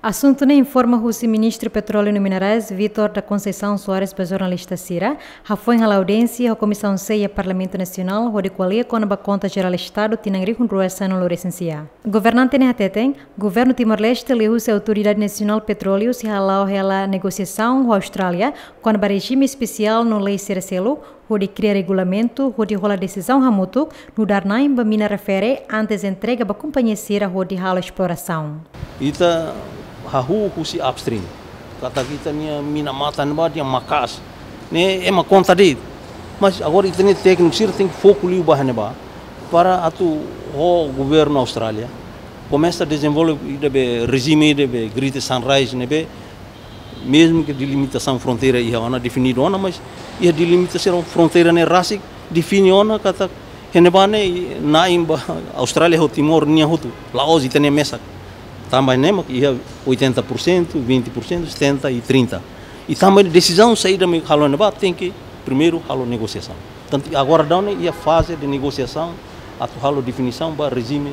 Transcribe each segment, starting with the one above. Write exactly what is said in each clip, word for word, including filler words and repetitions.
Asuntu ne'e informa husi Ministru Petróleu no Minerais, Vítor da Conceição Soares, ba jornalista sira, hafoin hala'o audiénsia ho Komisaun C iha Parlamentu Nasionál, hodi ko'alia kona-ba Konta Jerál Estadu tinan rihun rua sanulu-resin-sia. Governante ne'e hateten, Governu Timor-Leste liuhusi Autoridade Nasionál Petróleu sei hala'o hela negosiasaun ho Austrália kona-ba rejime espesiál no lei sira seluk, hodi kria regulamentu hodi hola desizaun hamutuk nu'udar na'in ba mina refere antes entrega ba kompañia sira hodi halo esplorasaun. Ita hahú husi upstream katak ita-nia mina matan ne'ebá nia maka'as, ne'e ema konta de'it. Mas agora ita-nia tékniku sira tenke foku liu ba ne'ebá para atu ho governu Austrália komesa dezenvolve ida be rejime ida be Greater Sunrise ne'ebé, mezmu ke delimitasaun fronteira iha ona, definidu ona, mas iha delimitasaun fronteira ne'e rasik define ona katak iha ne'ebá ne'e na'in ba Austrália ho Timor nian hotu, la'ós ita-nia mesak. Tanba ne'e mak iha oitenta por cento, vinte por cento, setenta e trinta. I tanba ne'e desizaun saida mak halo ne'ebá tenke primeiru halo negosiasaun. Portantu, agora daudaun ne'e iha faze de negosiasaun atu halo definisaun ba rejime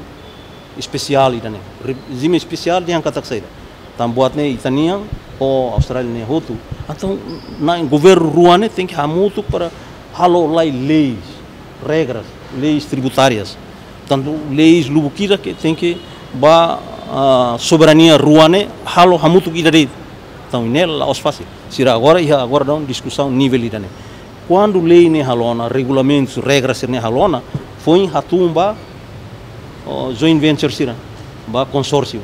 espesiál ida-ne'e. Rejime espesiál dehan katak saida? Tanba buat ne'e ita-nian ho Austrália ne'e hotu. Entaun, na'in governu rua ne'e tenke hamutuk para halo lai leis, regras, leis tributárias. Portantu, leis lubuk ida ke tenke ba, ah, soberania rua ne'e halo hamutuk ida de'it. Entaun, ne'e la'ós fasil. Sira agora iha agora daudaun diskusaun nivel ida-ne'e. Kuandu lei ne'e halo ona, regulamentus, regras ne'e halo ona, foin hatún ba, oh, joint venture sira, ba konsórsiu.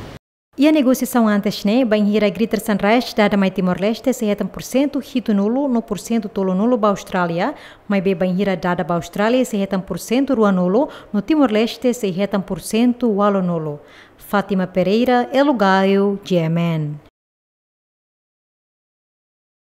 Iha negosiasaun antes ne'e, bainhira Greater Sunrise dada mai Timor-Leste sei hetan porsentu hitunulu no porsentu tolunulu ba Austrália, maibé bainhira dada ba Austrália sei hetan porsentu ruanulu no Timor-Leste sei hetan porsentu ualunulu. Fátima Pereira, Elo Gayo, G M N.